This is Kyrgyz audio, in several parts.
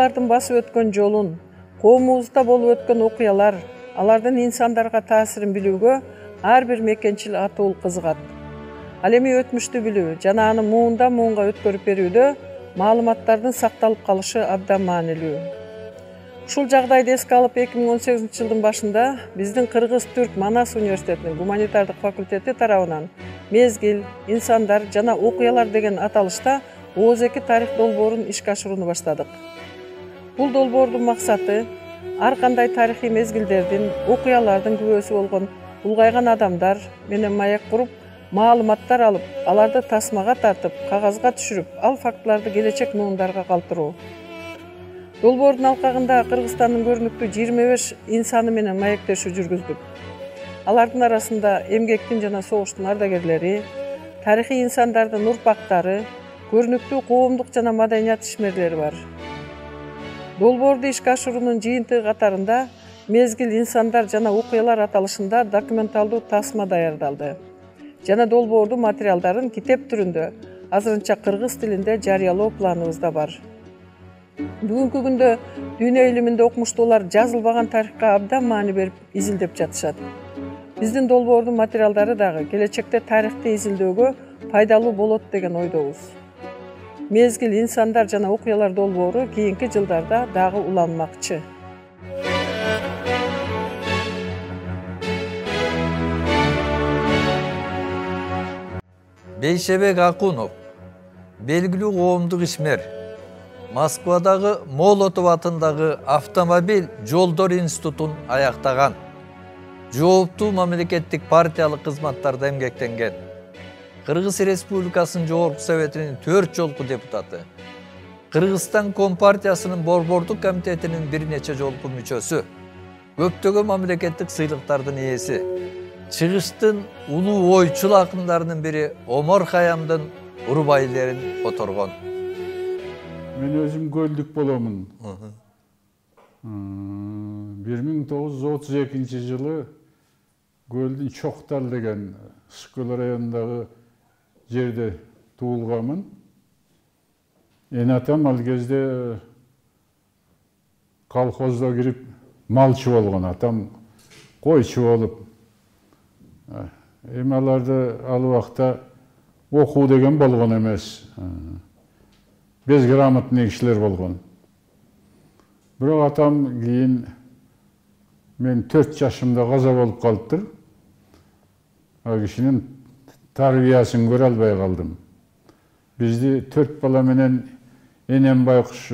окуялардын басып өткөн жолун, коомубузда болуп өткөн окуялар, алардын инсандарга таасирин билүүгө ар бир мекенчил атуул кызыгат. Ал эми өтмүштү билүү жана аны муундан муунга өткөрүп берүүдө маалыматтардын сакталып калышы абдан маанилүү. Ушул жагдайды эске алып 2018-жылдын башында биздин Кыргыз-Түрк Манас университетинин гуманитардык факультети тарабынан мезгил, инсандар жана окуялар деген аталышта ооз-2 тарых долбоорун ишке ашырууну баштадык. Бул долбоордун максаты ар кандай тарыхый мезгилдердин, окуялардын күбөсү болгон улгайган адамдар менен маек куруп, маалыматтар алып, аларды тасмага тартып, кагазга түшүрүп, ал фактыларды келечек муундарга калтыруу. Долбоордун алкагында Кыргызстандын көрүнүктүү 25 инсаны менен маектешүү жүргүздүк. Алардын арасында эмгектин жана согуштун ардагерлери, тарыхый инсандардын урпактары, көрүнүктүү коомдук жана маданият ишмерлери бар. Долбоорду ишке ашыруунун жыйынтыгы катарында мезгил, инсандар жана окуялар аталышында документалдуу тасма даярдалды жана долбоордун материалдарын китеп түрүндө азырынча кыргыз тилинде жарыялоо планыбызда бар. Бүгүнкү күндө дүйнө илиминде окумуштуулар жазылбаган тарыхка абдан маани берип изилдеп жатышат. Биздин долбоордун материалдары дагы келечекте тарыхты изилдөөгө пайдалуу болот деген ойдобуз. Мезгил, инсандар жана окуялар долбоору кийинки жылдарда дагы уланмакчы. Бейшебек Акунов, белгилүү коомдук ишмер, Москвадагы Молотов атындагы Автомобиль жолдор институтун аяктаган. Жооптуу мамлекеттик партиялык кызматтарда эмгектенген. Кыргыз Республикасынын Жогорку Советинин 4 жолку депутаты. Кыргызстан Компартиясынын Борбордук комитетинин бир нече жолку мүчөсү. Көптөгөн мамлекеттик сыйлыктардын ээси. Чыгыштын улуу ойчул акындарынын бири Омар Хаямдын урбайлерин которгон. Мен өзүм көлдүк боломун. 1932 жылы Көлдүн Чоктал деген Скөл районундагы жерде туулганмын. Атам ал кезде колхозго кирип малчы болгон, атам койчу болуп. Эми аларды ал убакта окуу деген болгон эмес. Безграмотный кишилер болгон. Бирок атам кийин мен 4 жашымда каза болуп калыптыр. Ал кишинин тарбиясын көрө албай калдым. Бизди 4 бала менен энем байкуш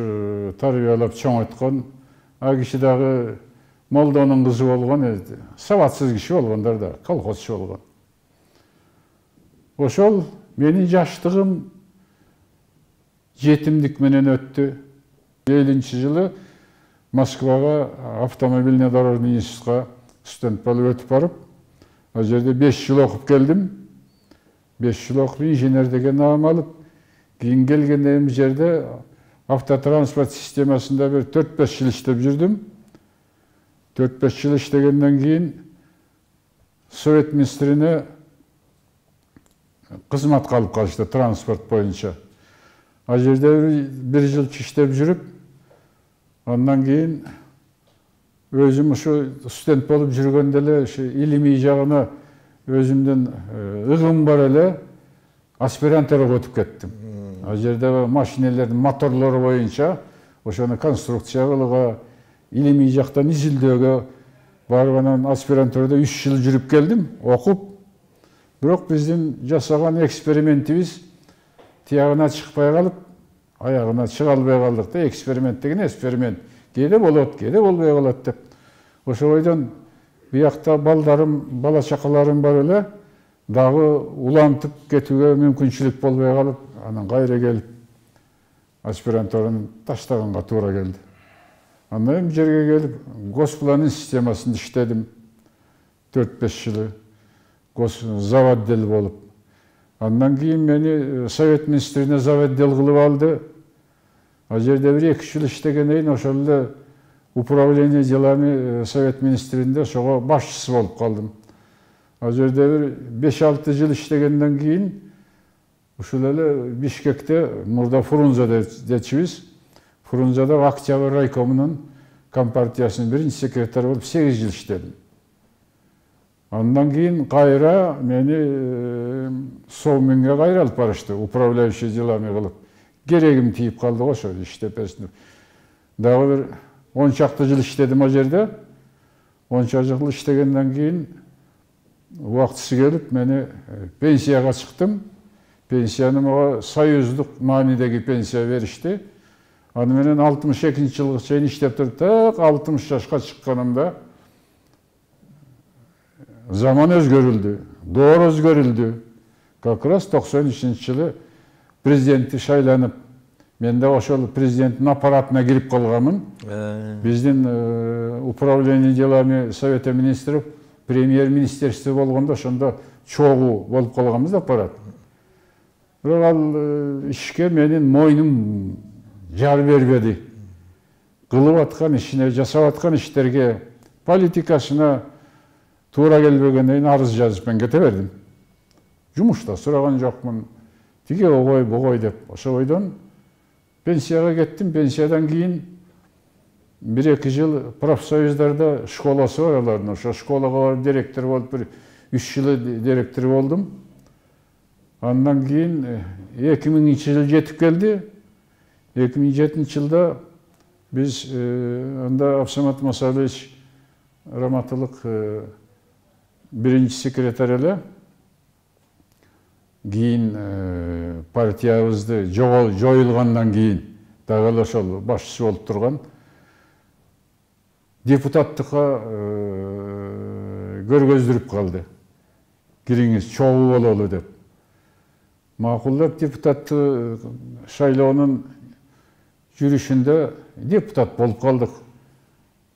тарбиялап чоңойткон. Ал киши дагы молдонун кызы болгон, сабатсыз киши болгондар да, колхозчу болгон. Ошол менин жаштыгым жетимдик менен өттү. 50-жылы Москвага автомобильный дорожный институтка студент болуп өтүп барып, ал жерде 5 жыл окуп келдим. 5 жыл окуп инженер деген наам алып, кийин келгенде эми жерде автотранспорт системасында бир 4-5 жыл иштеп жүрдүм. 4-5 жыл иштегенден кийин Совет министрине кызматка алып калышты транспорт боюнча. Ал жерде 1 жыл иштеп жүрүп, андан кийин өзүм ушу студент болуп жүргөндө эле илимий жагына өзүмдөн ыгым бар эле аспирантурага өтүп кеттим. Ал жерде машинелердин моторлору боюнча ошону конструкция кылууга, илимий жактан изилдөөгө барып анан аспирантурада 3 жыл жүрүп келдим, окуп. Бирок биздин жасаган экспериментибиз тиягына чыкпай калып, аягына чыга албай калдык да. Эксперимент деген эксперимент. Кээде болот, кээде болбой калат деп. Ошо бойдон биякта балдарым, бала чакаларым бар эле, дагы улантып кетүүгө мүмкүнчүлүк болбой калып, анан кайра келип аспирантураны таштаганга туура келди. Андан бу жерге келип госпланын системасында иштедим 4-5 жылы. Заводдел болуп. Андан кийин мени Совет министрине заводдел кылып алды. Ал жерде 1-2 жыл иштегенден кийин ошол эле управление делами Совет министринде ошого башчысы болуп калдым. Ал жерде 5-6 жыл иштегенден кийин ушул эле Бишкекте мурда Фрунзе дечибиз, Фрунзада Октябрь райкомунун компартиясынын биринчи секретары болуп 8 жыл иштедим. Андан кийин кайра мени Совминге кайра алып барышты, управляющий делами кылып. Керегим тийип калды го ошо иштеп берсин. Дагы бир 10 чакты жыл иштедим о жерде. 10 жыл иштегенден кийин убактысы келип мени пенсияга чыктым. Пенсияны мага союздук маанидеги пенсия беришти. Аны менен 62-жылга чейин иштеп туруп, так 60 жашка чыкканымда заман өзгөрүлдү, доор өзгөрүлдү. Как раз 93-жылы президентти шайланып, мен да ошол президенттин аппаратына кирип калганмын. Биздин управление делами Совета министров, премьер-министерство болгондо ошондо чогуу болуп калганбыз да аппарат. Бирок ал ишке менин мойнум жар бербеди. Кылып аткан ишине, жасап аткан иштерге, политикасына туура келбегенден арыз жазып мен кете бердим. Жумушта сураган жокмун. Тиги огой, богой деп. Ошо бойдон пенсияга кеттим. Пенсиядан кийин 1-2 жыл профсоюздарда школасы бар алардын. Ошо школага барып директор болуп, бир 3 жыл директор болдум. Андан кийин 2000-жыл жетип келди. 2007-жылда биз анда Абсамат Масалович Раматылык биринчи секретарь эле. Кийин партиябызды жоюлгандан кийин дагы ошол башчысы болуп турган депутаттыкка көргөздүрүп калды. Кириңиз, чогуу бололу деп. Макул деп депутатты шайлоонун жүрүшүндө депутат болуп калдык.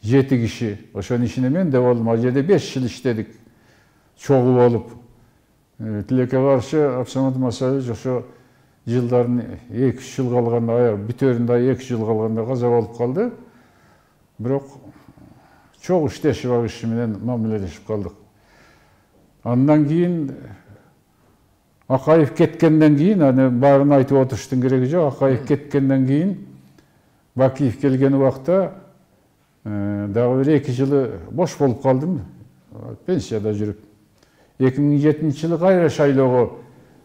7 киши. Ошонун ичинде мен де болдум. Ал жерде 5 жыл иштедик. Чогуу болуп. Тилекке каршы Абсамат Масалович ошо жылдарын 2-3 жыл калганда, аяк бүтөрүндө 2 жыл калганда каза болуп калды. Бирок чогуу иштешип ал киши менен мамилелешип калдык. Андан кийин Акаев кеткенден кийин, аны баарын айтып отуруштун кереги жок. Акаев кеткенден кийин Бакиев келген убакта дагы бир 2 жылы бош болуп калдым. Пенсияда жүрүп. 2007-жылы кайра шайлоого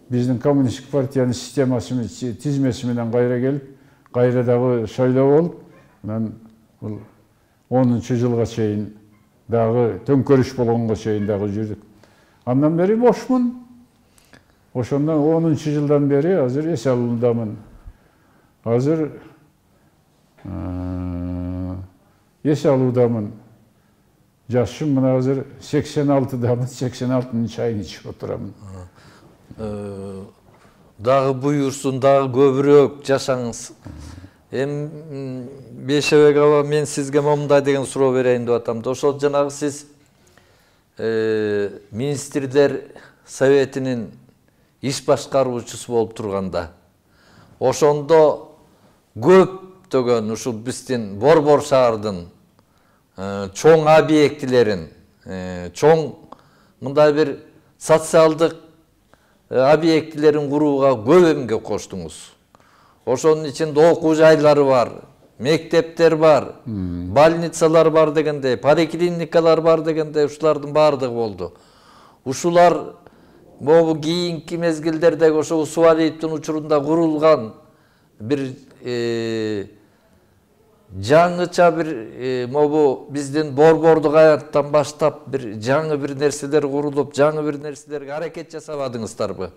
биздин коммунисттик партиянын системасы, тизмеси менен кайра келип, кайра дагы шайлоо болуп, анан бул 10-жылга чейин дагы төңкөрүш болгонго чейин дагы жүрдүк. Андан бери бошмун. Ошондон 10-жылдан бери азыр эс алуудамын. Азыр эс алуудамын. Жашым мына азыр 86-дамын, 86-нын чайын ичип отурамын. Дагы буйурсун, дагы көбүрөөк жашаңыз. Эми Бейшебек аба, мен сизге момундай деген суроо берейин деп атам. Ошол жанагы сиз министрлер советинин иш башкаруучусу болуп турганда, ошондо көптөгөн ушул биздин Борбор шаардын чоң объектилерин, чоң мындай бир социалдык объектилерин курууга көп эмгек коштуңуз. Ошонун ичинде окуу жайлары бар, мектептер бар, больницалар бар дегендей, поликлиникалар бар дегендей, ушулардын баардыгы болду. Ушулар могу кийинки мезгилдердеги ошо Усубалиевдин учурунда курулган бир жаңыча бир могу биздин борбордук аяттан баштап бир жаңы бир нерселер курулуп, жаңы бир нерселерге аракет жасабадыңыздарбы?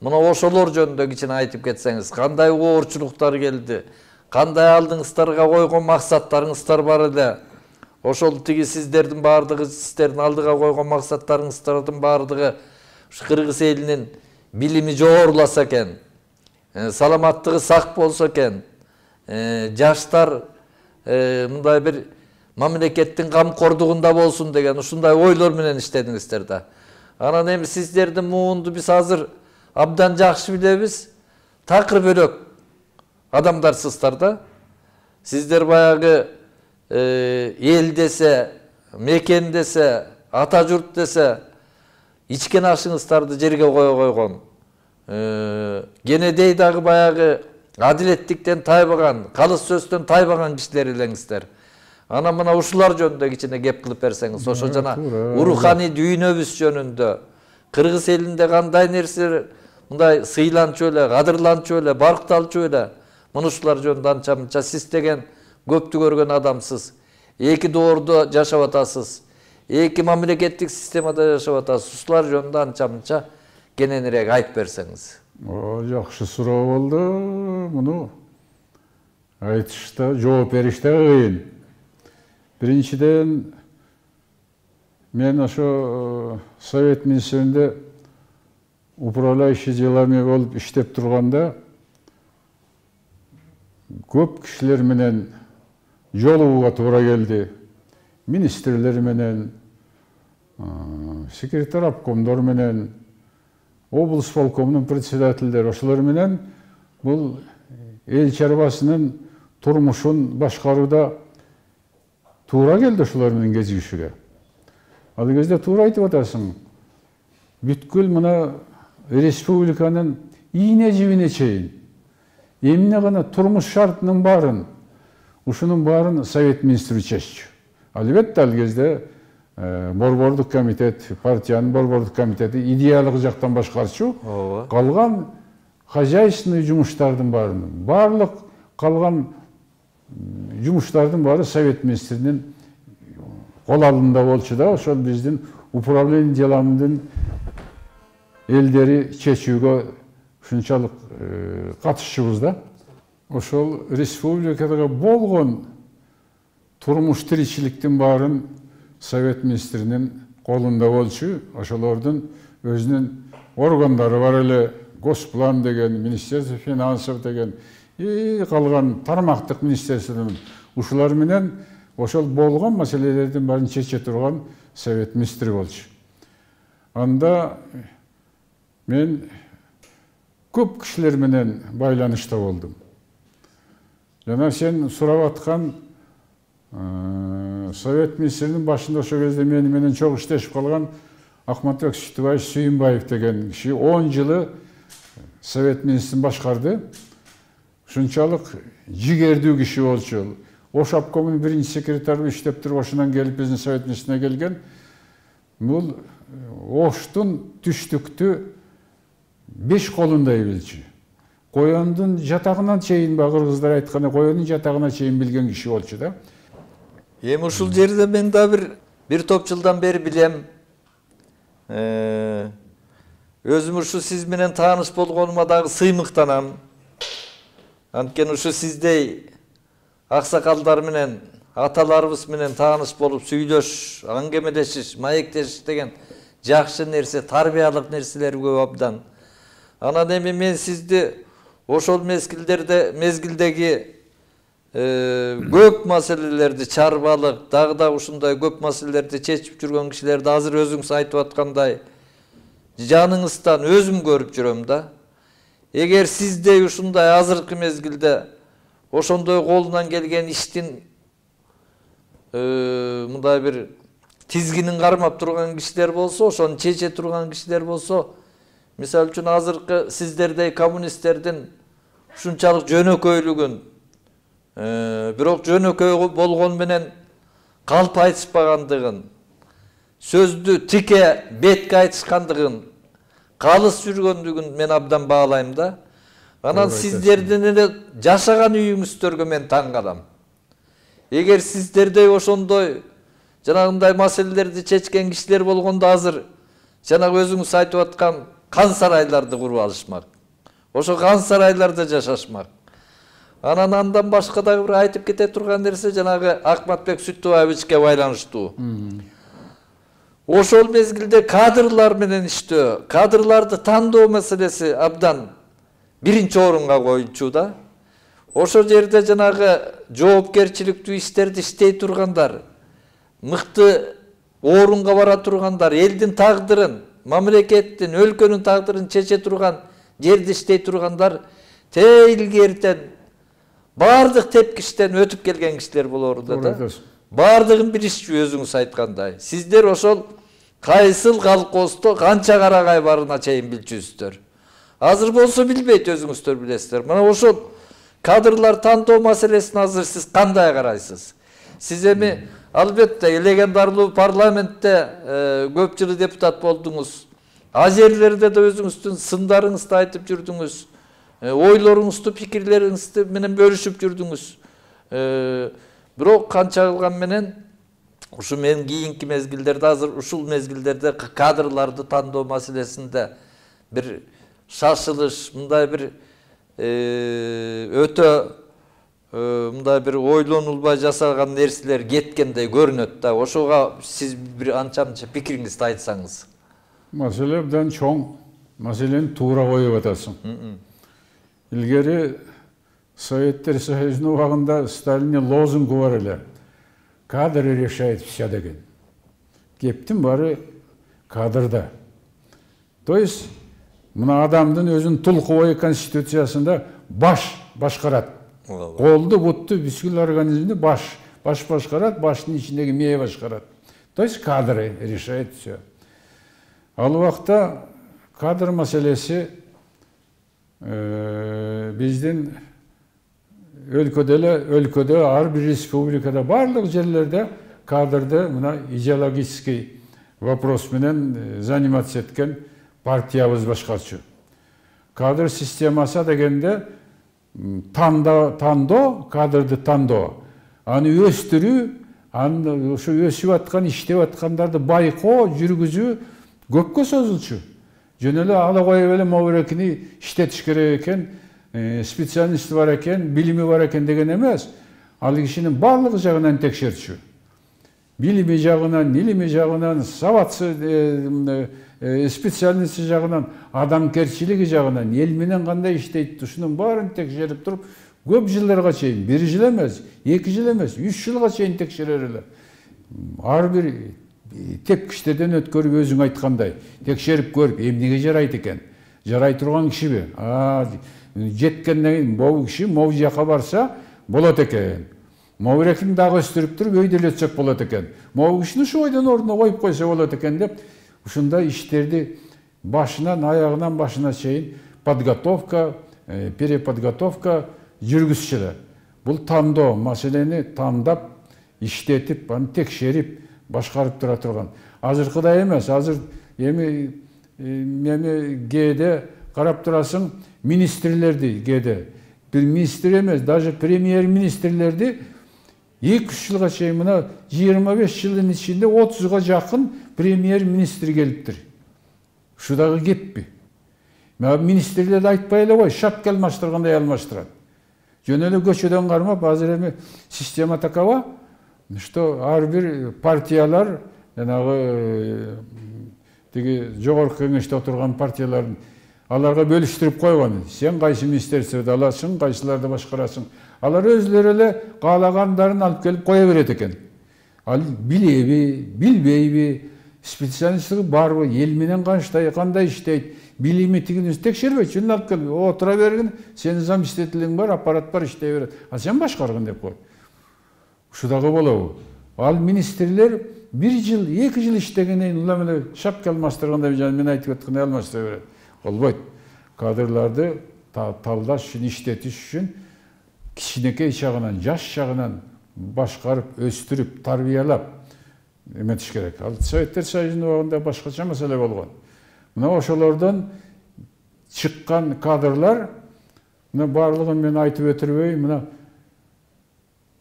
Мына ошолор жөнүндө кичине айтып кетсеңиз, кандай оорчулуктар келди, кандай алдыңыздарга койгон максаттарыңыздар бар эле? Ошол тиги сиздердин баардыгы, сиздердин алдыга койгон максаттарыңыздардын баардыгы Кыргыз элинин билими жогоруласа экен, саламаттыгы сак болсо экен, жаштар мындай бир мамлекеттин камкордугунда болсун деген ушундай ойлор менен иштедиңиздер да. Анан эми сиздердин муунду биз азыр абдан жакшы билебиз. Такыр бөлөк адамдарсыздар да. Сиздер баягы эл десе, мекен десе, ата журт десе, ичкен ашыңыздарды жерге кое койгон. Кенедей дагы баягы адилеттиктен тайбаган, калыс сөздөн тайбаган кишилер элеңиздер. Ана мына ушулар жөнүндө кичине кеп кылып берсеңиз, ошо жана руханий дүйнөбүз жөнүндө, Кыргыз элинде кандай нерсе мындай сыйланчу эле, кадырланчу эле, баркталчу эле, мына ушулар жөнүндө анча-мынча сиз деген көптү көргөн адамсыз. Эки доордо жашап атасыз. Эки мамлекеттик системада жашап атасыз. Ушулар жөнүндө анча-мынча кененирээк айтып берсеңиз. Жакшы суроо болду. Муну айтышта, жооп бериште кыйын. Биринчиден, мен ошо Совет министрлигинде управляющий делами болуп иштеп турганда көп кишилер менен жолугууга туура келди. Министрлер менен, секретарь обкомдор менен, облус полкомунун председательдери, ошолор менен бул эл чарбасынын турмушун башкарууда туура келди ошолор менен кезигишүүгө. Ал кезде туура айтып атасың. Бүткүл мына республиканын ийне жибине чейин эмне гана турмуш шартынын баарын, ушунун баарын Совет министри чеччү. Албетте ал кезде борбордук комитет, партиянын борбордук комитети идеялык жактан башкарчу. Калган хозяйственный жумуштардын баардык калган жумуштардын баары Совет министринин кол алдында болчу да, ошол биздин управление деломдун элдери чечүүгө ушунчалык катышчубуз да. Ошол республикада болгон турмуш тиричиликтин баарын Совет министринин колунда болчу. Ошолордун өзүнүн органдары бар эле, Госплан деген, Министерство финансов деген, калган тармактык министрликтер. Ушулар менен ошол болгон маселелердин баарын чече турган Совет министри болчу. Анда мен көп кишилер менен байланышта болдум. Жана сен сурап аткан Совет министринин башында ошол кезде менен чогуу иштешип калган Акматбек Сүтүбаев Сүйүнбаев деген киши 10 жылы Совет министрин башкарды. Ушунчалык жигердүү киши болчу. Ош обкомунун биринчи секретары иштеп туруп, ошонан келип биздин Совет министрине келген. Бул Оштун түштүктү 5 колундай билчү. Коёндун жатагынан чейин, кыргыздар айтканда, коёндун жатагына чейин билген киши болчу да. Эми ушул жерде мен да бир топ жылдан бери билем. Өзүм ушу сиз менен тааныш болгонума дагы сыймыктанам. Анткени ушу сиздей аксакалдар менен, аталарыбыз менен тааныш болуп сүйлөш, аңгемелешиш, маектешиш деген жакшы нерсе, тарбиялык нерселер көп абдан. Анан эми мен сизди ошол мезгилдеги көп маселелерди, чарбалык, дагы ушундай көп маселелерди чечип жүргөн кишилерди азыр өзүңүз айтып аткандай жаныңыздан өзүм көрүп жүрөм да. Эгер сиздей ушундай азыркы мезгилде ошондой колунан келген иштин мындай бир тизгинин кармап турган кишилер болсо, ошону чече турган кишилер болсо, мисалы үчүн азыркы сиздердей коммунисттердин ушунчалык жөнөкөйлүгүн, бирок жөнөкөй болгон менен калп айтышпагандыгын, сөздү тике бетке айтышкандыгын, калыс жүргөндүгүн мен абдан баалайм да. Анан сиздердин эле жашаган үйүңүздөргө мен таң калам. Эгер сиздердей ошондой жанагындай маселелерди чечкен кишилер болгондо азыр жанагы өзүңүз айтып аткан кан сарайларды куруп алышмак. Ошо кан сарайларда жашашмак. Анан андан башка дагы бир айтып кете турган нерсе жанагы Акматбек Сүтүбаевичке байланыштуу. Ошол мезгилде кадрлар менен иштөө, кадрларды тандоо маселеси абдан биринчи орунга коюлчу да. Ошол жерде жанагы жоопкерчиликтүү иштерди иштей тургандар, мыкты орунга бара тургандар, элдин тагдырын, мамлекеттин, өлкөнүн тагдырын чече турган жерде иштей тургандар илгертен бардык тепкичтен өтүп келген кишилер болорду да. Бардыгын билишчү өзүңүз айткандай. Сиздер ошол кайсыл колхоздо канча карагай барына чейин билчүсүздөр. Азыр болсо билбейт, өзүңүздөр билесиздер. Мына ошол кадрлар тандоо маселесин азыр сиз кандай карайсыз? Сиз эми албетте легендарлуу парламентте көп жыл депутат болдуңуз. А жерлерде да өзүңүздүн сындарыңызды айтып жүрдүңүз. Ойлоруңузду, пикирлериңизди менен бөлүшүп жүрдүңүз. Бирок канча кылган менен ушу мен кийинки мезгилдерде азыр ушул мезгилдерде кадрларды тандоо маселесинде бир шашылыш, мындай бир өтө мындай бир ойлонулбай жасалган нерселер кеткендей көрүнөт да. Ошого сиз бир анча-мынча пикириңизди айтсаңыз. Маселе абдан чоң. Маселени туура коюп атасың. Илгери Советтер Союзунун убагында Сталиндин лозунгу бар эле. Кадры решает все деген. Кептин баары кадрда. То есть мына адамдын өзүнүн тулкубой конституциясында баш башкарат. Колду, бутту, бүткүл организмди баш башкарат, баштын ичиндеги мээ башкарат. То есть кадры решает все. Ал убакта кадр маселеси биздин өлкөдө ар бир республикада барлык жерлерде кадрды мына идеологический вопрос менен заниматься эткен партиябыз башкарчу. Кадр системасы дегенде тандоо, кадрды тандоо, аны өстүрүү, аны ушу өсүп аткан, иштеп аткандарды байкоо, жүргүзүү көпкө созулчу. Жөн эле ала коюп эле могурекини иштетиш керек экен, специалисти бар экен, билими бар экен деген эмес. Ал кишинин барлык жагынан текшерчү. Билими жагынан, илими жагынан, сабатсы специалисти жагынан, адамгерчилиги жагынан, эл менен кандай иштейт, ушунун баарын текшерип туруп, көп жылдарга чейин, 1 жыл эмес, 2 жыл эмес, 3 жылга чейин текшерер эле. Ар бир тепкичтерден өткөрүп өзүң айткандай, текшерип көрүп, эмнеге жарайт экен? Жарай турган кишиби? Жеткенден кийин могу киши могу жака барса болот экен. Могурекин дагы өстүрүп туруп өйдө эле өтсөк болот экен. Могу кишини ушу ойдон ордуна коюп койсо болот экен деп, ушундай иштерди башынан аягынан башына чейин подготовка, переподготовка жүргүзчүлөр. Бул тандоо, маселени тандап, иштетип, аны текшерип, башкарып тура турган. Азыркыдай эмес, азыр эми кээде карап турасың, министрлерди кээде, бир министр эмес, даже премьер-министрлерди 2-3 жылга чейин мына 25 жылдын ичинде 30га жакын премьер-министр келиптир. Ушу дагы кеппи? Министрлерди айтпай эле кой, шапка алмаштыргандай алмаштырат. Жөн эле көчөдөн кармап, азыр эми система такова, что ар бир партиялар, жанагы тиги жогорку кеңеште отурган партиялардын аларга бөлүштүрүп койгон. Сен кайсы министрликтерди аласың, кайсыларды башкарасың. Алар өзлөрү эле каалагандарын алып келип кое берет экен. Ал билеби, билбейби, специалисттиги барбы, эл менен кандай иштейт, билими тигини текшербейт, жөн алып келип, отура бергин, сенин заместителиң бар, аппарат бар, иштей берет. А сен башкаргын деп кой. Ушу дагы болобу? Ал министрлер 1 жыл, 2 жыл иштегенден улам эле шапка алмаштыргандай мен айтып аткандай алмаштыра берет. Болбойт. Кадрларды талдаш үчүн, иштетиш үчүн кичинекей чагынан, жаш чагынан башкарып, өстүрүп, тарбиялап эметиш керек. Ал Советтер Союзунун убагында башкача маселе болгон. Мына ошолордон чыккан кадрлар, мына барлыгын мен айтып өтүрбөй, мына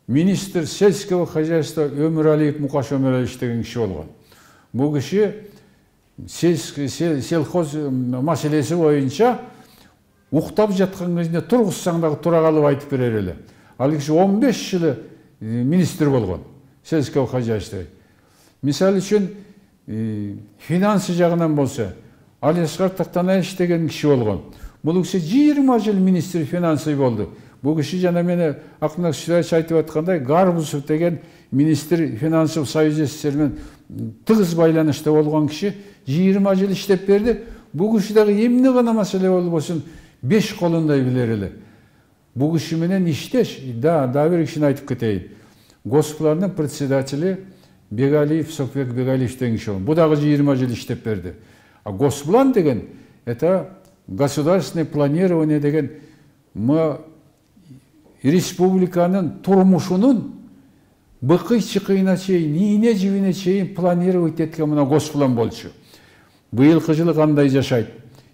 министр сельского хозяйства Өмүралиев Мукаш Өмүралиевич деген киши болгон. Бул киши селхоз маселеси боюнча уктап жаткан кезинде тургузсаң дагы тура калып айтып берер эле. Ал киши 15 жылы министр болгон сельского хозяйства. Мисалы үчүн финансы жагынан болсо, Алиаскар Тактанаевич деген киши болгон. Бул киши 20 жыл министр финансы болду. Бул киши жана мени Акмак Сүрөевич айтып аткандай, Гарбузов деген министр финансов союз СССР менен тыгыз байланышта болгон киши 20 жыл иштеп берди. Бул киши дагы эмне гана маселе болбосун 5 колундай билер эле. Бул киши менен иштеш, да бир кишини айтып кетейин. Госплардын председатели Бегалиев, Сокбек Бегалиев деген киши. Бул дагы 20 жыл иштеп берди. А Госплан деген это государственное планирование деген мы республиканын турмушунун быкый чыкыйына чейин, ийне жибине чейин планировать эткен мына госплан болчу. Быйылкы жылы кандай жашайт,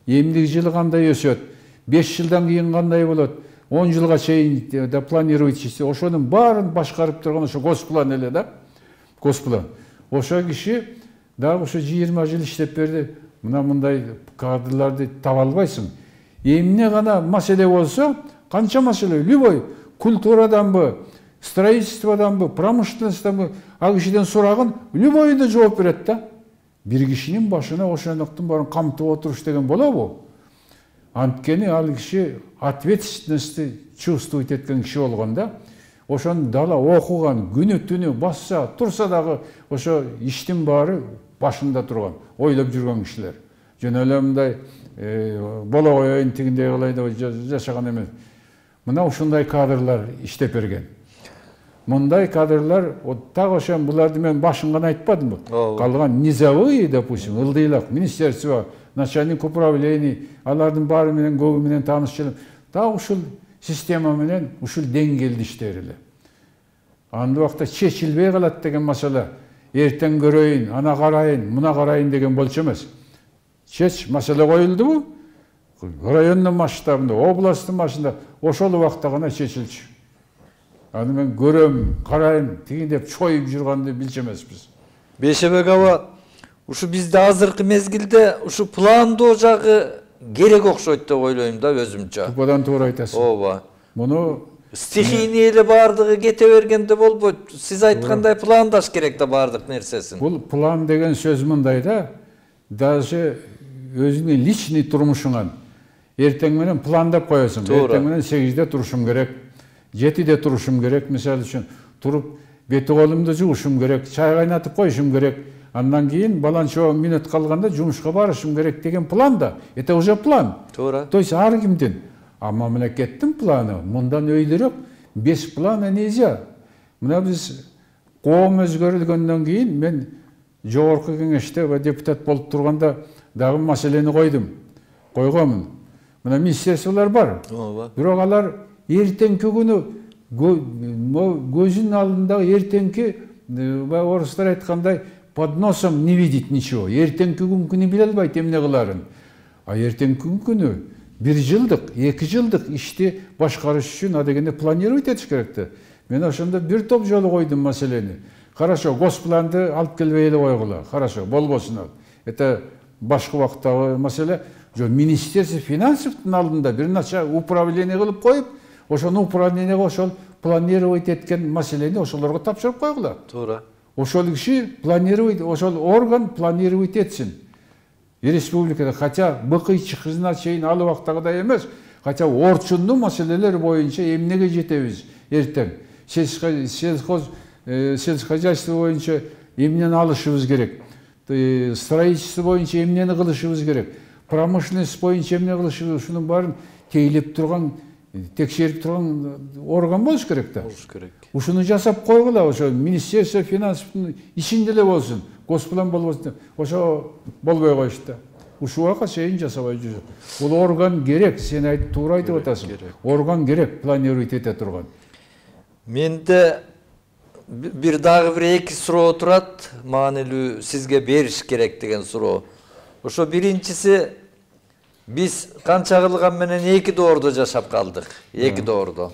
эмдиги жылы кандай өсөт, 5 жылдан кийин кандай болот, 10 жылга чейин да планировать этсе, ошонун баарын башкарып турган ошо госплан эле да. Госплан. Ошо киши дагы ошо 20 жыл иштеп берди. Мына мындай кадрларды таба албайсың. Эмне гана маселе болсо, канча маселе, любой культураданбы, строительстводанбы, промышленностьтанбы, ал кишиден сурагын любойду жооп берет да. Бир кишинин башына ошондуктун баарын камтып отуруш деген болобу? Анткени ал киши ответственностьти чувствовать эткен киши болгон да. Ошону дала окуган, күнү түнү басса, турса дагы ошо иштин баары башында турган, ойлоп жүргөн кишилер. Жөн эле мындай боло коеюн тигиндей кылай деп жашаган эмес. Мына ушундай кадрлар иштеп берген. Мындай кадрлар так ошо буларды мен башын гана айтпадымбы. Калган низовые, допустим, ылдыйлак, министерство, начальник управлений, алардын баары менен көбү менен таанышчылык. Так ушул система менен ушул деңгээлде иштер эле. Анда убакта чечилбей калат деген маселе. Эртең көрөйүн, ана карайын, мына карайын деген болчу эмес. Маселе коюлдубу? Райондун масштабында, областтын масштабында ошол убакта гана чечилчү. Аны мен көрөм, карайм, тигин деп чоюп жүргөндү билчү эмеспиз. Бейшебек аба, ушу бизде азыркы мезгилде ушу пландоо жагы керек окшойт деп ойлойм да өзүмчө. Тупадан туура айтасың. Ооба. Муну стихийный эле баардыгы кете бергенде болбойт. Сиз айткандай пландаш керек да баардык нерсесин. Бул план деген сөз мындай да, даже өзүңүн личный турмушуңан эртең менен пландап коесуң. Эртең менен 8-де турушум керек, 7-де турушум керек, мисалы үчүн туруп бети колумду жуушум керек, чай кайнатып коюшум керек. Андан кийин баланчо мүнөт калганда жумушка барышым керек деген план да. Это уже план. Туура. То есть ар кимдин. А мамлекеттин планы мындан өйдөрөк, без плана нельзя. Мына биз коом өзгөрүлгөндөн кийин мен жогорку кеңеште депутат болуп турганда дагы маселени койгонмун. Мына министрликтер бар. Бирок алар эртеңки күнү көзүнүн алдында эртеңки орустар айткандай под носом не видит ничего. Эртеңки күнкүнү биле албайт эмне кыларын. А эртеңки күнкүнү 1 жылдык, 2 жылдык ишти башкарыш үчүн адегенде планировать этиш керек да. Мен ошондо бир топ жолу койдум маселени. Хорошо, госпланды алып келбей эле койгула. Хорошо, болбосун ал. Это башка убактагы маселе. Министерство финансовдун алдында бир нача управление кылып коюп, ошону управлениеге ошол планировать эткен маселени ошолорго тапшырып койгула. Туура. Ошол киши планировать, ошол орган планировать этсин. Республикада, хотя быкый чыкызына чейин ал убактагыдай эмес, хотя орчундуу маселелер боюнча эмнеге жетебиз эртең. Сельскохозяйство боюнча эмнени алышыбыз керек. Строительство боюнча эмнени кылышыбыз керек. Промышленность боюнча эмне кылышыбыз, ушунун баарын тейлеп турган, текшерип турган орган болуш керек да. Болуш керек. Ушуну жасап койгула, ошо министерство финансовдун ичинде эле болсун. Госплан болбосун. Ошо болбой коюшту да. Ушуга чейин жасабай жүрөт. Бул орган керек, сен айтып туура айтып атасың. Орган керек, планировать эте турган. Менде бир дагы бир эки суроо турат, маанилүү сизге бериш керек деген суроо. Ошо биринчиси, биз канча кылган менен 2 доордо жашап калдык. 2 доордо.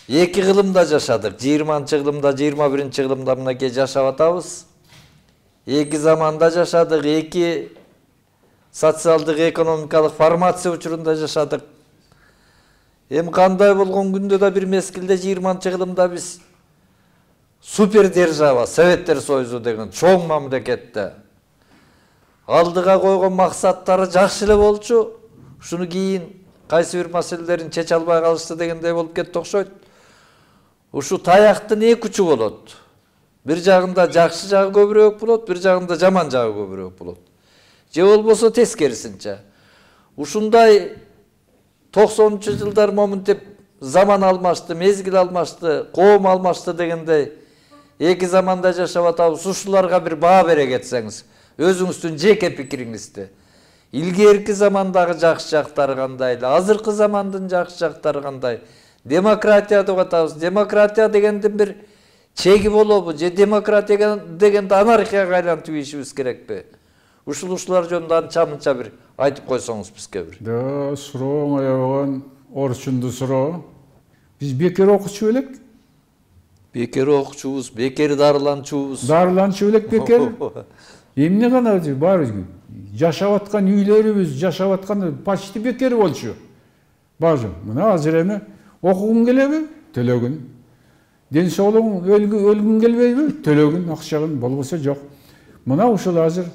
2 кылымда жашадык. 20-кылымда, 21-кылымда мынакей жашап атабыз. 2 заманда жашадык, 2 социалдык экономикалык формация учурунда жашадык. Эми кандай болгон күндө да бир мезгилде 20-кылымда биз супер держава, Советтер Союзу деген чоң мамлекетте алдыга койгон максаттары жакшы эле болчу. Ушуну кийин кайсы бир маселелерин чече албай калышты дегендей болуп кетти окшойт. Ушу таяктын 2 учу болот. Бир жагында жакшы жагы көбүрөөк болот, бир жагында жаман жагы көбүрөөк болот. Же болбосо тескерисинче. Ушундай 90-жылдар моментип заман алмашты, мезгил алмашты, коом алмашты дегендей 2 заманда жашап атабыз. Ушуларга бир баа бере кетсеңиз, өзүңүздүн жеке пикириңизди. Илгерки замандагы жакшы жактары кандай, азыркы замандын жакшы жактары кандай демократия деп атабыз. Демократия дегендин бир чеги болобу же демократия дегенди анархияга айлантып ийишибиз керекпи? Ушулар жөнүндө анча-мынча бир айтып койсоңуз бизге бир. Да, суроо аябаган орчунду суроо. Биз бекер окучу белек? Бекер окучубуз, бекер дарыланчубуз. Дарыланчу белек бекер? Эмне гана бар жашап аткан үйлөрүбүз, жашап аткан почти бекер болчу. Бажым, мына азыр эми окугуң келеби? Төлөгүн. Ден соолугуң өлгүң келбейби? Төлөгүн, акчагын, болбосо жок. Мына ушул азыр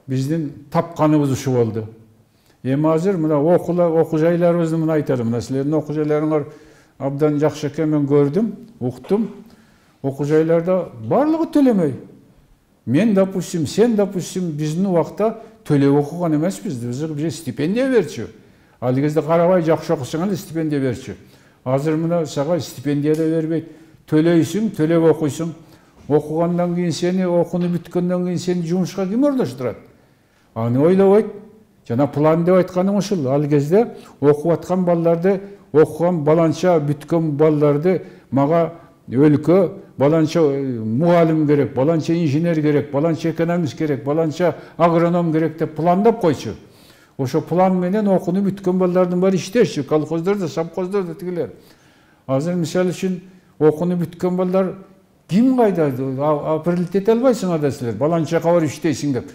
биздин тапканыбыз ушу болду. Эми азыр мына окуу жайларыбызды мына айталым. Мына силердин окуу жайларыңар абдан жакшы экен, мен көрдүм, уктум. Окуу жайларда барлыгы төлөмөй. Мен, допустим, сен, допустим, биздин убакта төлөп окуган эмеспиз. Бизге стипендия берчү. Ал кезде карабай жакшы окусаң эле стипендия берчү. Азыр мына сага стипендия да бербейт. Төлөйсүң, төлөп окуйсуң. Окугандан кийин сени, окууну бүткөндөн кийин сени жумушка ким ордоштурат? Аны ойлобойт. Жана план деп айтканым ушул. Ал кезде окуп аткан балдарды, окуган баланча бүткөн балдарды мага өлкө баланча мугалим керек, баланча инженер керек, баланча экономист керек, баланча агроном керек деп пландап койчу. Ошо план менен окууну бүткөн балдардын баары иштешчү, колхоздордо, совхоздордо тигилер. Азыр мисалы үчүн окууну бүткөн балдар ким кайда? Приоритет албайсың ада силер, баланчага барып иштейсиң деп.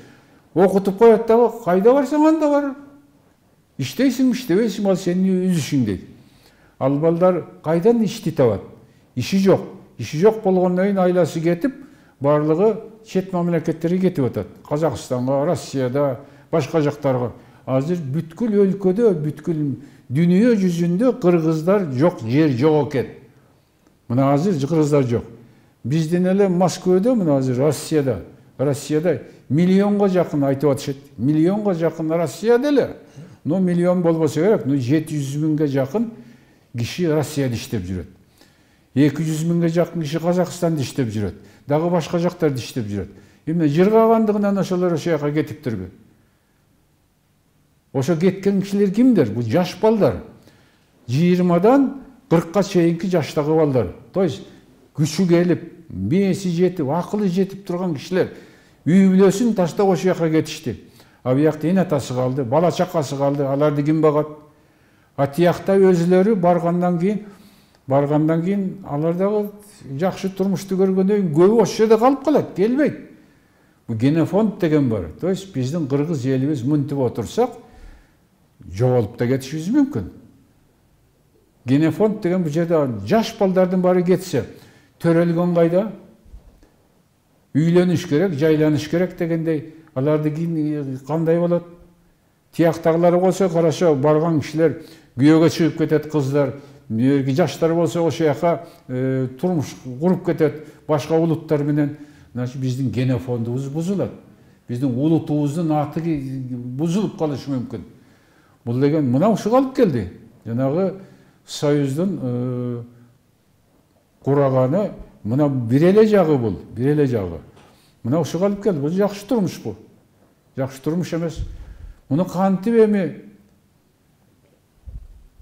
Окутуп коет дагы, кайда барсаң анда бар. Иштейсиң, иштебейсиң, ал сенин үзүшүң дейт. Ал балдар кайдан ишти табат? Иши жок. Иши жок болгондон кийин айласы кетип, барлыгы чет мамлекеттерге кетип атат. Казакстанга, Россияда, башка жактарга. Азыр бүткүл өлкөдө, бүткүл дүйнө жүзүндө кыргыздар жок, жер жок экен. Мына азыр кыргыздар жок. Бизден эле Москвада, мына азыр Россияда миллионго жакын айтып атышат. Миллионго жакын Россияда эле. Но миллион болбосо керек, 700 миңге жакын киши Россияда иштеп жүрөт. 200 миңге жакын киши Казакстанда иштеп жүрөт. Дагы башка жактарда иштеп жүрөт. Эмне жыргагандыгынан ошолор ошол жака кетиптирби? Ошо кеткен кишилер кимдер? Бул жаш балдар. 20-дан 40-ка чейинки жаштагы балдар. То есть күчү келип, мээси жетип, акылы жетип турган кишилер үй бүлөсүн таштап ошол жака кетишти. А биякта эне атасы калды, бала чакасы калды, аларды ким багат? А тиякта өзүлөрү баргандан кийин алар дагы жакшы турмушту көргөндөн кийин көбү ошол жерде калып калат, келбейт. Бу генофонд деген бар. То есть биздин кыргыз элибиз мынтип отурсак жоголуп да кетишибиз мүмкүн. Генофонд деген бул жерде жаш балдардын баары кетсе, төрөлгөн кайда? Үйлөнүш керек, жайланыш керек дегендей, аларды кийин кандай болот? Тияктагылары болсо, караша барган кишилер күйөөгө чыгып кетет кыздар, жаштар болсо ошол жака турмуш куруп кетет башка улуттар менен. Значит, биздин генофондубуз бузулат. Биздин улутубуздун аты бузулуп калышы мүмкүн. Бул деген мына ушуга алып келди. Жанагы Союздун кураганы мына бир эле жагы бул, бир эле жагы. Мына ушуга алып келди. Бул жакшы турмуш бул. Жакшы турмуш эмес. Муну кантип эми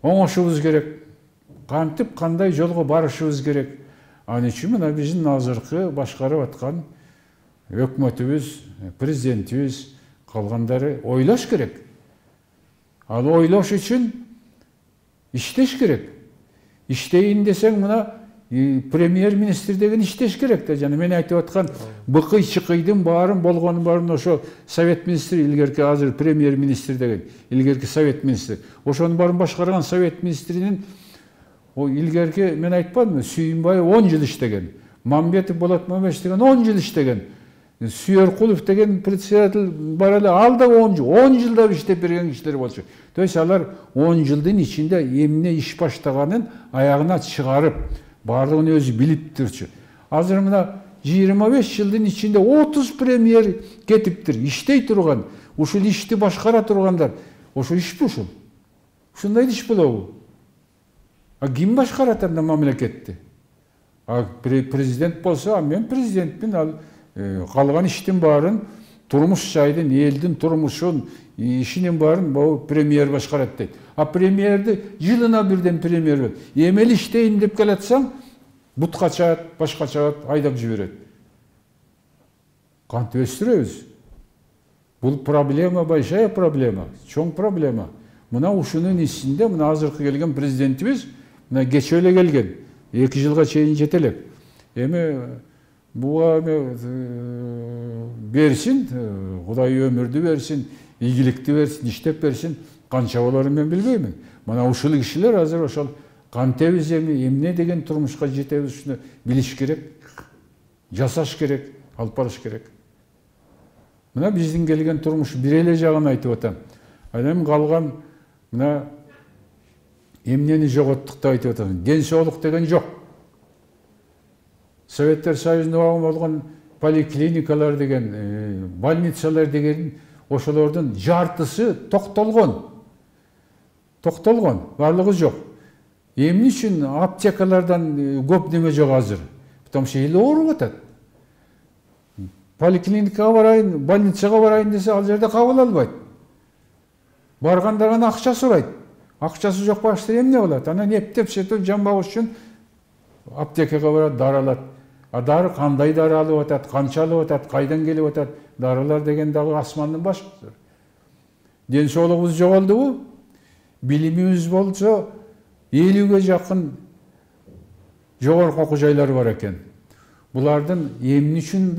оңошубуз керек? Кантип кандай жолго барышыбыз керек? Ал үчүн мына биздин азыркы башкарып аткан өкмөтүбүз, президентибиз, калгандары ойлош керек. Ал ойлош үчүн иштеш керек. Иштейин десең мына премьер-министр деген иштеш керек да. Жана мен айтып аткан быкый-чыкыйдын баарын болгонун баарын ошо совет министри, илгерки азыр премьер-министр деген, илгерки совет министри. Ошонун баарын башкарган совет министринин илгерки мен айтпадымбы, Сүйүнбаев 10 жыл иштеген, Мамбетов Болот Мамбетов деген 10 жыл иштеген, Сүйөркулов деген председатель бар эле, ал да 10 жылда иштеп берген кишилер болчу. То есть алар 10 жылдын ичинде эмне иш баштаганын аягына чыгарып, баардыгын өзү билип турчу. Азыр мына 25 жылдын ичинде 30 премьер кетиптир, иштей турган, ушул ишти башкара тургандар. Ошол ишпи ушул? Ушундай иш болобу? А ким башкарат анда мамлекетти? А президент болсо, мен президентмин, ал калган иштин баарын, турмуш жайдын, элдин турмушун, ишинин баарын премьер башкарат дейт. А премьерди жылына бирден премьер болот. Эмели иштейин деп келатсаң, бутка чаат, башка чаат айдап жиберет. Кантип өстүрөбүз? Бул проблема, большая проблема, чоң проблема. Мына ушунун ичинде мына азыркы келген президентибиз мына кече эле келген. 2 жылга чейин жете элек. Эми буга берсин, Кудай өмүрдү берсин, ийгиликти берсин, иштеп берсин. Канча болорун мен билбеймин. Мына ушул кишилер азыр ошол кантебиз эмне деген турмушка жетебиз ушуну билиш керек, жасаш керек, алып барыш керек. Мына биздин келген турмуш бир эле жагын айтып атам. Анан калган мына эмнени жоготтук деп айтып атам. Ден соолук деген жок. Советтер Союзунда болгон поликлиникалар деген, больницалар деген ошолордун жартысы токтолгон. Барлыгы жок. Эмне үчүн аптекалардан көп неме жок азыр? Потому что эл ооруп атат. Поликлиникага барайын, больницага барайын десе, ал жерде кабыл албайт. Баргандардан акча сурайт. Акчасы жок башта эмне болот? Анан эптеп сетип жан багыш үчүн аптекага барат, дары алат. А дары кандай дары алып атат, канча алып атат, кайдан келип атат? Дарылар деген дагы асмандын башкысы. Ден соолугубуз жоголдубу? Билимибиз болсо 50ге жакын жогорку окуу жайлары бар экен. Булардын эмне үчүн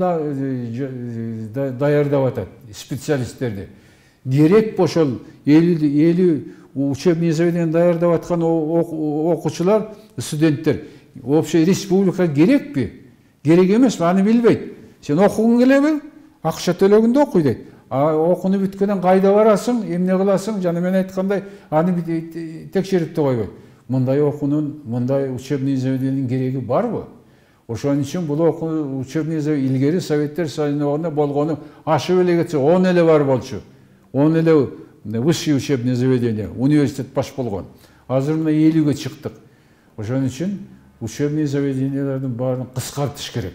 даярдап атат специалисттерди? Керек ошол 50 учебный заведение даярдап аткан окуучулар, студенттер общий республика керекпи? Керек эмеспи? Аны билбейт. Сен окугуң келеби? Акча төлөгүндө окуй дейт. А окууну бүткөндөн кайда барасың, эмне кыласың? Жана мен айткандай, аны текшерип да койбойт. Мындай окуунун, мындай учебный заведениянын кереги барбы? Ошон үчүн бул окуу учебный заведение илгери Советтер Союзунда болгону ашып эле кетсе 10 эле бар болчу. 10 эле высший учебный заведение, университет баш болгон. Азыр мына 50ге чыктык. Ошон үчүн учебный заведениялардын баарын кыскартыш керек.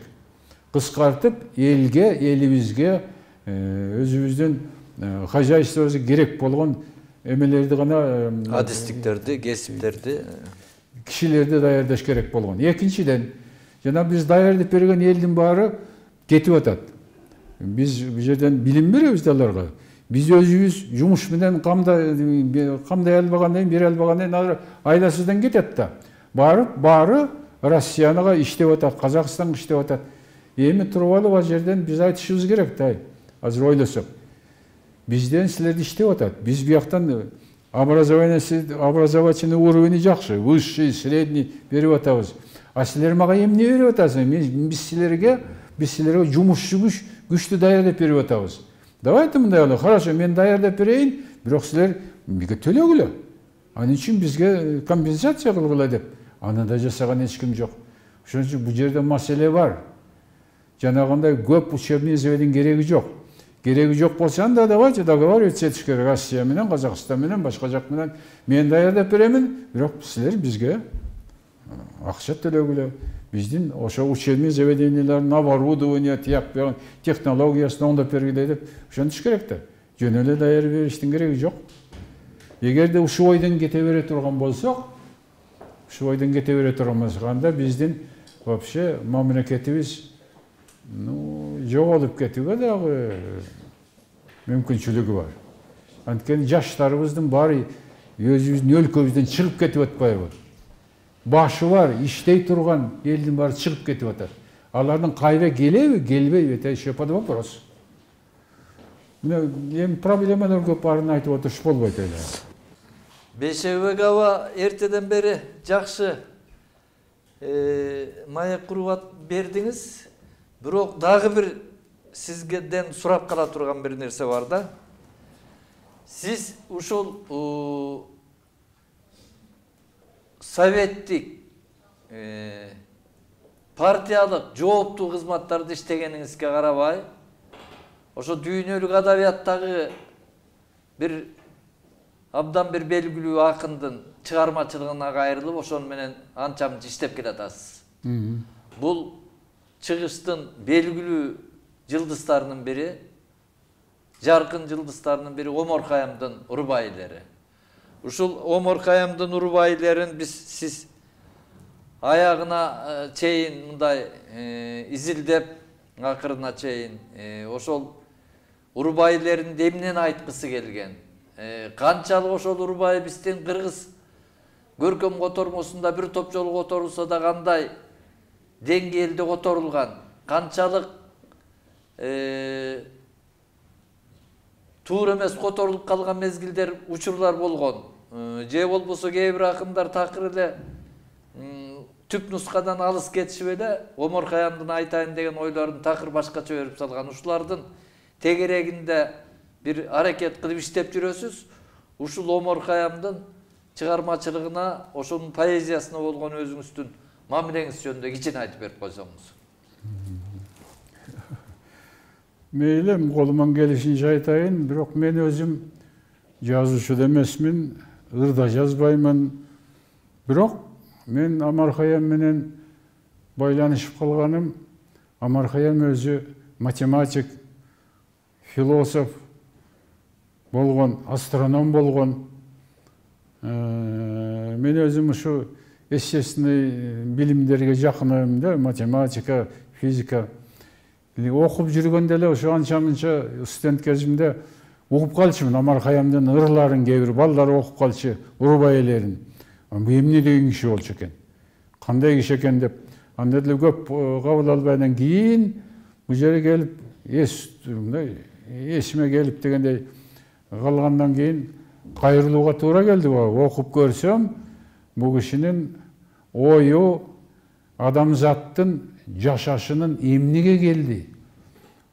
Кыскартып, элибизге, өзүбүздүн хозяйствобузга керек болгон эмелерди гана, адистиктерди, кесиптерди, кишилерди даярдаш керек болгон. Экинчиден, жана биз даярдап берген элдин баары кетип атат. Биз бул жерден билим беребиз да аларга. Биз өзүбүз жумуш менен камдай албагандан кийин, бере албагандан кийин айласыздан кетет да. Баары Россиянага иштеп атат, Казакстанга иштеп атат. Эми туруп алып ал жерден биз айтышыбыз керек да. Азыр ойлосок. Бизден силерди иштеп атат. Биз бияктан образовательный уровень жакшы, высший, средний берип атабыз. А силер мага эмне берип атасың? Биз силерге жумушчу күчтү даярдап берип атабыз. Давайте мындай кылалы. Хорошо, мен даярдап берейин, бирок силер мага төлөгүлө. Анын үчүн бизге компенсация кылгыла деп. Аны да жасаган эч ким жок. Ошон үчүн бул жерде маселе бар. Жанагындай көп учебный заведение кереги жок. Кереги жок болса да давайте договариваться этиш керек. Россия менен, Казакстан менен, башка жак менен мен даярдап беремин, бирок силер бизге акча төлөгүлө. Биздин ошо учебный заведениялардын оборудование, технологиясын оңдоп бергиле деп ошентиш керек да. Жөн эле даярдап бериштин кереги жок. Эгерде ушул ойдон кете бере турган болсок, анда биздин вообще мамлекетибиз жоголуп кетүүгө дагы мүмкүнчүлүгү бар. Анткени жаштарыбыздын баары өзүбүздүн өлкөбүздөн чыгып кетип атпайбы? Башы бар, иштей турган элдин баары чыгып кетип атат. Алардын кайра келеби, келбейби? Это еще под вопрос. Эми проблемалар көп, баарын айтып отуруш болбойт эле. Бейшебек аба эртеден бери жакшы маек куруп бердиңиз. Бирок дагы бир сизден сурап кала турган бир нерсе бар да. Сиз ушул советтик партиялык жооптуу кызматтарды иштегениңизге карабай, ошо дүйнөлүк адабияттагы бир абдан бир белгилүү акындын чыгармачылыгына кайрылып, ошону менен анча мынча иштеп келатасыз. Бул чыгыштын белгилүү жылдыздарынын бири, жаркын жылдыздарынын бири Омар Кайымдын Урбайлери. ушул Омар Каямдын урбайлерин сиз аягына чейин мындай изилдеп акырына чейин ошол урбайлеринде эмнени айткысы келген? Канчалык ошол урбай биздин кыргыз көркөм котормосунда бир топ жолу которулса да кандай деңгээлде которулган? Канчалык туура эмес которулуп калган мезгилдер, учурлар болгон? Же болбосо кээ бир акындар такыр эле түп нускадан алыс кетишип эле Омар Каямдын айтайын деген ойлорун такыр башкача берип салган. Ушулардын тегерегинде бир аракет кылып иштеп жүрөсүз. Ушул Омар Каямдын чыгармачылыгына, ошонун поэзиясына болгон өзүңүздүн мамилеңиз жөнүндө кичине айтып берип койсоңуз. Мейли, колуман келишинче айтайын, бирок мен өзүм жазуучу да эмесмин, ырда жазбаймын. Бирок мен Омар Каям менен байланышып калганым, Омар Каям өзү математик, философ болгон, астроном болгон. Мен өзүм ушу естественный билимдерге жакыным да, математика, физика. Окуп жүргөндө эле ошо анча-мынча студент кезимде угуп калчумун Омар Каямдын ырларын, кээ бир балдар окуп калчу, урбайлерин. Бу эмне деген киши болчу экен? Кандай киши экен деп. Анда деле көп кабыл албайдан кийин бу жерге келип, эсиме келип дегендей калгандан кийин кайрылууга туура келди. Окуп көрсөм, бу кишинин ою адамзаттын жашашынын эмнеге келди?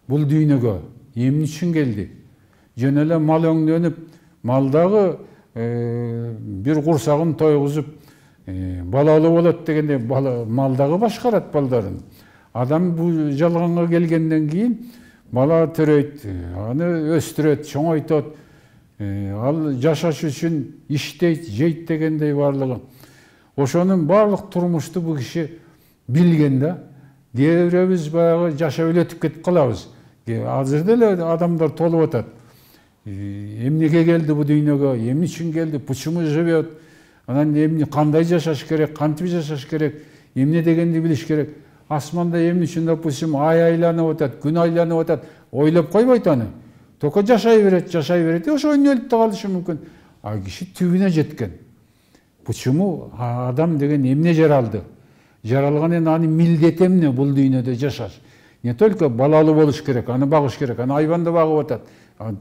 Бул дүйнөгө эмне үчүн келди? Жөн эле мал өңдөнүп, малдагы бир курсагын тойгузуп, балалуу болот дегенде малдагы башкарат балдарын. Адам бул жалганга келгенден кийин бала төрөйт, аны өстүрөт, чоңойтот, ал жашаш үчүн иштейт, жейт дегендей барлыгы. Ошонун барлык турмушту бу киши билген да. Кээ бирибиз баягы жашап эле өтүп кетип калабыз. Азыр деле адамдар толуп атат. Эмнеге келди бу дүйнөгө, эмне үчүн келди, почему живет, анан эмне, кандай жашаш керек, кантип жашаш керек, эмне дегенди билиш керек. Асманда эмне үчүн, допустим, ай айланып атат, күн айланып атат, ойлоп койбойт аны. Только жашай берет, ошо өлүп да калышы мүмкүн. А киши түбүнө жеткен. Почему адам деген эмне жаралды? Жаралган эми аны милдети эмне бул дүйнөдө жашаш? Не только балалуу болуш керек, аны багыш керек, аны айбанда багып атат,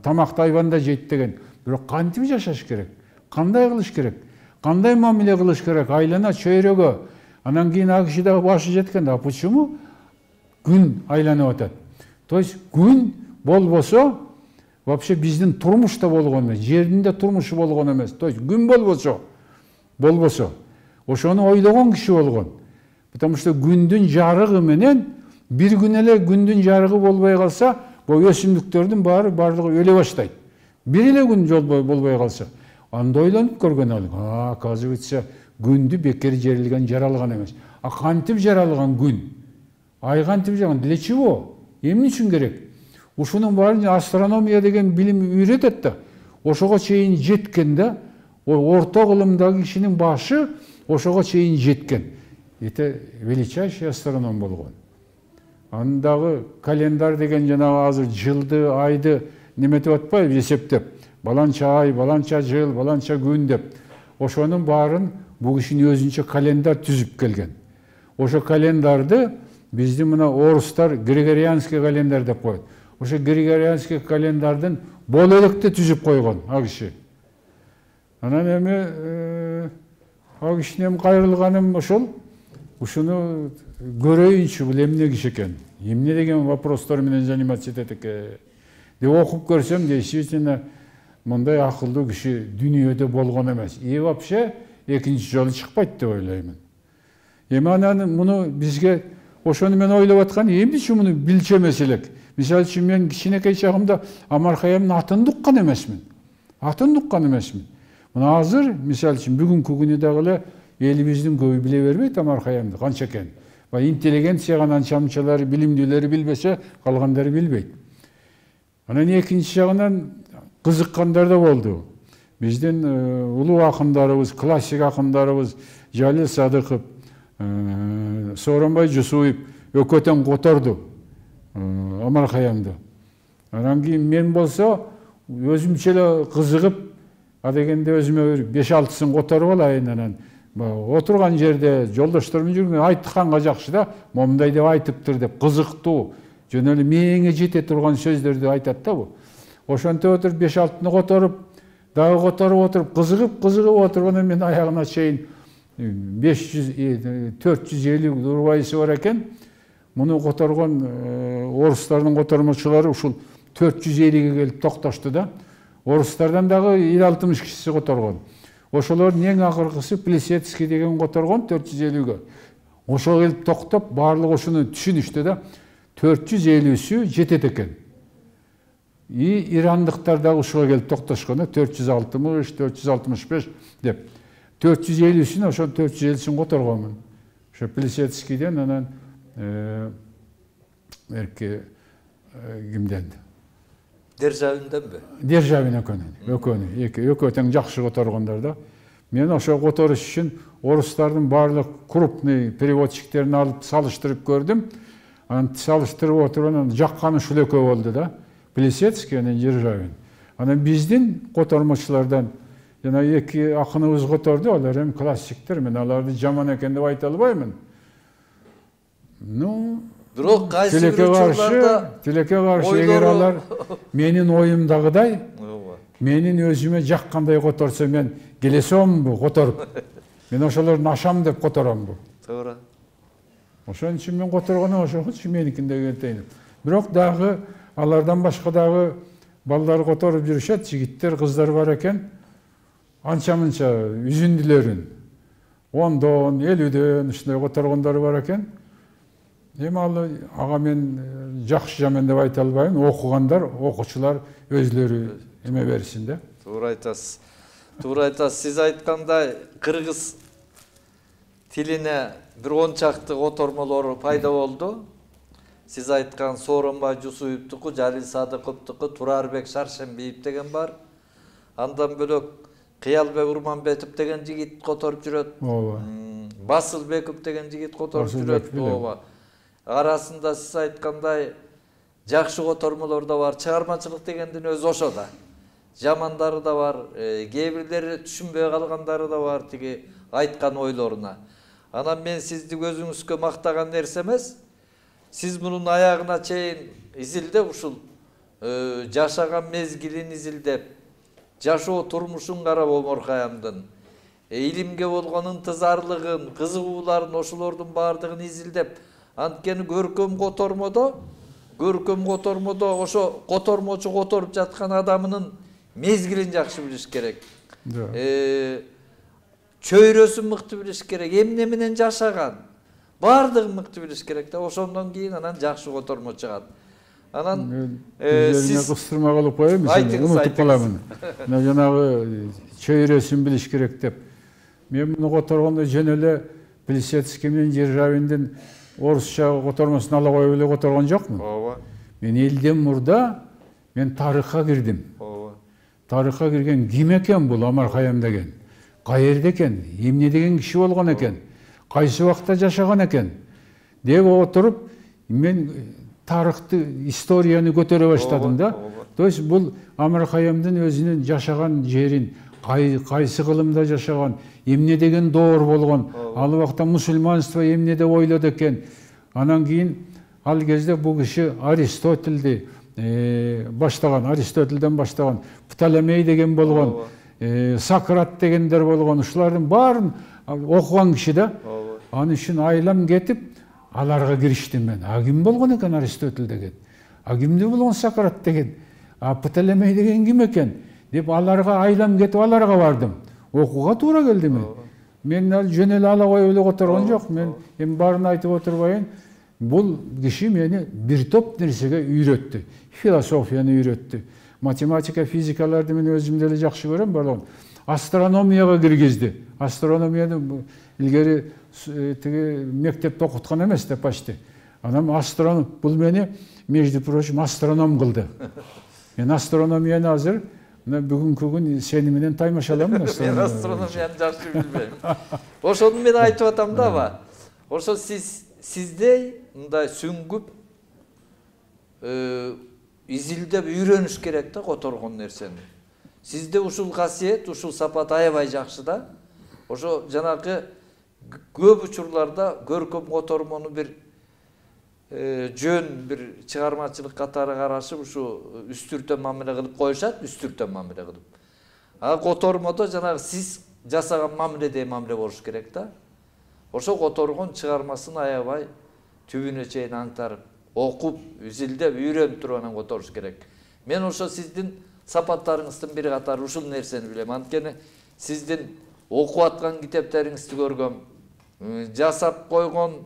тамакты айбанда жейт деген. Бирок кантип жашаш керек? Кандай кылыш керек? Кандай мамиле кылыш керек? Айлана чөйрөгө. Анан кийин ал киши дагы башы жеткен. А почему күн айланып атат? То есть күн болбосо, вообще биздин турмушта болгон эмес, жердин да турмушу болгон эмес. То есть күн болбосо, ошону ойлогон киши болгон. Потому что күндүн жарыгы менен бир күн эле күндүн жарыгы болбой калса, бул өсүмдүктөрдүн баардыгы өлө баштайт. Бир эле күн болбой калса, анда ойлонуп көргөн ал. Оказывается, күндү бекер жерилген, жаралган эмес. А кантип жаралган күн? Ай кантип жаралган? Для чего? Эмне үчүн керек? Ушунун баарын астрономия деген билим үйрөтөт да. Ошого чейин жеткен да. Орто кылымдагы кишинин башы ошого чейин жеткен. Это величайший астроном болгон. Андагы календар деген жанагы азыр жылды, айды неметип атпайбы, эсептеп. Баланча ай, баланча жыл, баланча күн деп. Ошонун баарын бу кишинин өзүнчө календар түзүп келген. Ошо календарды биздин мына орустар григорианский календар деп коет. Ошо григорианский календардын болеликти түзүп койгон ал киши. Анан эми ал кишинен кайрылганым ошол. Ушуну көрөйүнчү, бул эмне киши экен? Эмне деген вопростор менен заниматься этет экен? Деп окуп көрсөм, действительно мындай акылдуу киши дүйнөдө болгон эмес. И вообще экинчи жолу чыкпайт деп ойлоймун. Эми анан муну бизге ошону мен ойлоп аткан, эмне үчүн муну билчемес элек? Мисалы үчүн мен кичинекей чагымда Омар Каямдын атын уккан эмесмин. Мына азыр мисалы үчүн бүгүнкү күнү дагы эле элибиздин көбү биле бербейт Омар Каямды канча экен. Интеллигенциянын анча-мынчалары, билимдүүлөрү билбесе, калгандары билбейт. Анан экинчи жагынан кызыккандар да болду. биздин улуу акындарыбыз, классик акындарыбыз Жалил Садыков, Сооронбай Жусуев өкөтөн которду Омар Хаямды. Анан кийин мен болсо өзүмчө эле кызыгып, адегенде өзүмө бир 5-6сын которуп алайын, анан отурган жерде жолдошторум жүргөн айтканга жакшы да, момундай деп айтыптыр деп кызыктуу, жөн эле мээңе жете турган сөздөрдү айтат да бу. Ошентип отуруп 5-6-ны которуп, дагы которуп отуруп, кызыгып отурганда мен аягына чейин 450 урбайсы бар экен. Муну которгон орустардын котормочулары ушул 450ге келип токтошту да. Орустардан дагы 50-60 кишиси которгон. Ошолордун эң акыркысы Плесецкий деген которгон 450ге. Ошо келип токтоп, баардык ошону түшүнүштү да. 450сү жетет экен. Ирандыктар дагы ушуга келип токтошкон, 460, 465 деп. 450сүн, ошо 450син которгонмун. Ошо Плесецкийден, анан кимден? Державинденби? Державин экөө тең жакшы которгондар да. Мен ошо которуш үчүн орустардын баардык крупный переводчиктерин алып салыштырып көрдүм. Анан салыштырып отуруп, анан жакканы ушул экөө болду да. Плесецкий менен Державин. Анан биздин котормочулардан жана эки акыныбыз которду, алар эми классиктер, мен аларды жаман экен деп айта албаймын. Бирок кайсы бир учурларда тилекке каршы эгер алар менин оюмдагыдай, менин өзүмө жаккандай которсо, мен келесембу которуп. Мен ошолордун ашам деп которомбу. Туура. Ошон үчүн мен которгону ошочу меникинде кетейин. Бирок дагы алардан башка дагы балдар которуп жүрүшөт, жигиттер, кыздар бар экен. Анча-мынча үзүндүлөрүн 10дон, 50дөн ушундай которгондор бар экен. Эми ал ага мен жакшы жаман деп айта албайм. Окугандар, окуучулар өзлөрү эме берсин да. Туура айтасыз. Туура айтасыз. Сиз айткандай кыргыз тилине бир 10 чакты котормолор пайда болду. Сиз айткан Сооронбай Жусуевдуку, Жалил Садыковдуку, Турарбек Шаршембиев деген бар. Андан бөлөк Кыялбек Урманбетов деген жигит которуп жүрөт. Ооба. Басылбеков деген жигит которуп жүрөт. Ооба. Арасында сиз айткандай жакшы котормолор да бар. Чыгармачылык дегендин өзү ошо да. Жамандары да бар, кээ бирлери түшүнбөй калгандары да бар тиги айткан ойлоруна. Анан мен сизди өзүңүзгө мактаган нерсе эмес. Сиз мунун аягына чейин изилдеп, ушул жашаган мезгилин изилдеп, жашоо турмушун карап Омар Хаямдын, илимге болгон ынтызарлыгын, кызыгууларын, ошолордун баардыгын изилдеп, анткени көркөм котормодо ошо котормочу которуп жаткан адамынын мезгилин жакшы билиш керек. Чөйрөсүн мыкты билиш керек, эмне менен жашаган, баардыгын мыкты билиш керек да. Ошондон кийин анан жакшы котормо чыгат. Анан сиз кыстырма кылып коеюн, унутуп каламын. Жанагы чөйрөсүн билиш керек деп. Мен муну которгондо жөн эле Плесецкий менен Державиндин орусча котормосун ала коюп эле которгон жокмун. Ооба. Мен элден мурда мен тарыхка кирдим. Ооба. Тарыхка кирген ким экен бул Омар Хаям деген? Каерде экен? Эмне деген киши болгон экен? Кайсы убакта жашаган экен? Деп отуруп, мен тарыхты, историяны көтөрө баштадым да. То есть бул Омар Хаямдын өзүнүн жашаган жерин, кайсы кылымда жашаган, эмне деген доор болгон, ал убакта мусулманство эмне деп ойлоду экен. Анан кийин ал кезде бул киши Аристотельди баштаган, Аристотельден баштаган, Птолемей деген болгон, Сократ дегендер болгон, ушулардын баарын окуган киши да. Аны үчүн айлам кетип, аларга кириштим мен. А ким болгон экен Аристотель деген? А кимде болгон Сократ деген? А Птолемей деген ким экен? Деп аларга айлам кетип, аларга бардым. Окууга туура келди мен. Мен жөн эле ала коюп эле которгон жок. Мен эми баарын айтып отурбайын. Бул киши мени бир топ нерсеге үйрөттү. Философияны үйрөттү. Математика, физикаларды мен өзүм деле жакшы көрөм барлыгын. Астрономияга киргизди. Астрономияны илгери тиги мектепте окуткан эмес да почти. Анан бул мени, между прочим, астроном кылды. Мен астрономияны азыр мына бүгүнкү күн сени менен таймашалам Мен астрономияны жакшы билбейм. Ошону мен айтып атам дабы. Ошо сиздей мындай сүңгүп изилдеп үйрөнүш керек да которгон нерсени. Сизде ушул касиет, ушул сапат аябай жакшы да. Ошо жанагы көп учурларда көркөм котормону бир жөн бир чыгармачылык катары карашып ушу үстүртө мамиле кылып коюшат, үстүртө мамиле кылып. А котормодо жанагы сиз жасаган мамиледей мамиле болуш керек да. Ошо которгон чыгармасын аябай түбүнө чейин аңтарып, окуп, изилдеп, үйрөнүп туруп анан которуш керек. Мен ошо сиздин сапаттарыңыздын бир катары ушул нерсени билем. Анткени сиздин окуп аткан китептериңизди көргөм, жасап койгон,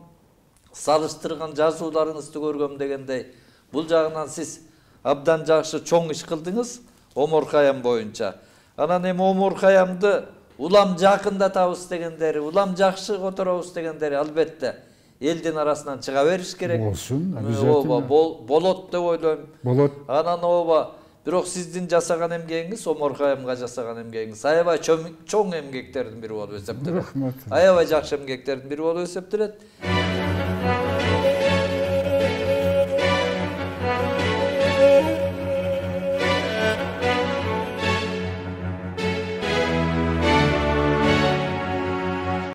салыштырган жазууларыңызды көргөм дегендей, бул жагынан сиз абдан жакшы чоң иш кылдыңыз Омор Каям боюнча. Анан эми Омор Каямды улам жакындатабыз дегендери, улам жакшы которобуз дегендери албетте элдин арасынан чыга бериш керек. Болсун, обязательно. Болот деп ойлойм. Болот. Анан бирок сиздин жасаган эмгегиңиз, Омор Каямга жасаган эмгегиңиз аябай чоң эмгектердин бири болуп эсептелет. Рахмат. Аябай жакшы эмгектердин бири болуп эсептелет.